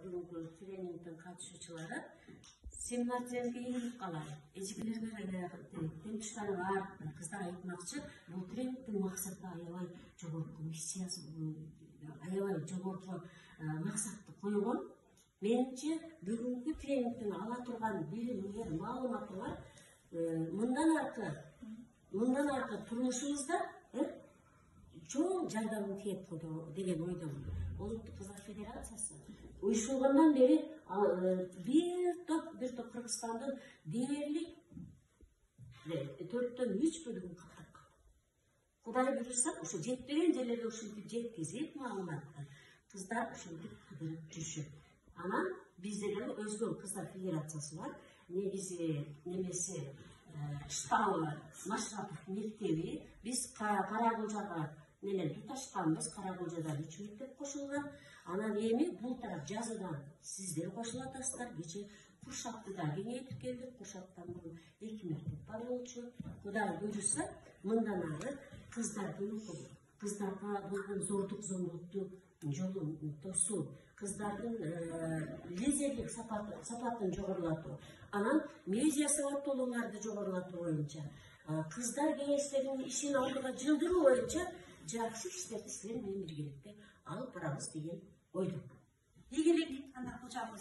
бүгүнкү тренингдин катышуучулары семинардерге ийгилик каалайм. Эжекелерге темчтары бар кыздар айтмакчы, бул тренингдин максаты аябай жогорку миссиясы, аябай жогорку максатты койгон. Менимче бүгүнкү тренингдин ала турган билимиңер, маалыматыңар мындан аркы турмушубузда чоң жардамын тийет деген ойдомун. Улуттук Кыздар Федерациясы уюшулгандан бери бир топ Кыргызстандын дээрлик 4/3 бөлүгүн каптап калды. Кудай буйрса, ушу жетпеген жерлерге ушинтип жеткизип маалыматты кыздар ушинтип кыдырып жүрүшөт. Анан бизде деле өзгө Кыздар Федерациясы бар. Негизи немеси штабы Машратов мектеби. Биз Каракылжага менен туташканбыз. Каракылжадан 3 мектеп кошулган. Анан эми бул тарап жазыдан сиздер кошула атасыздар. Кече Куршактыда кеңейтип келдик. Куршаттан мурун 2 мектеп бар болчу. Кудай буйрса, мындан ары кыздарга болгон зордук зомбулукту жолун тосуу, кыздардын лидерлик сапатын жогорулатуу, анан медиа сабаттуулугун жогорулатуу боюнча, кыздар кеңештеринин ишин алдыга жылдыруу боюнча жакшы иштерди силер менен биргеликте алып барабыз деген ойдомун. Ийгилик анда кылчабыз.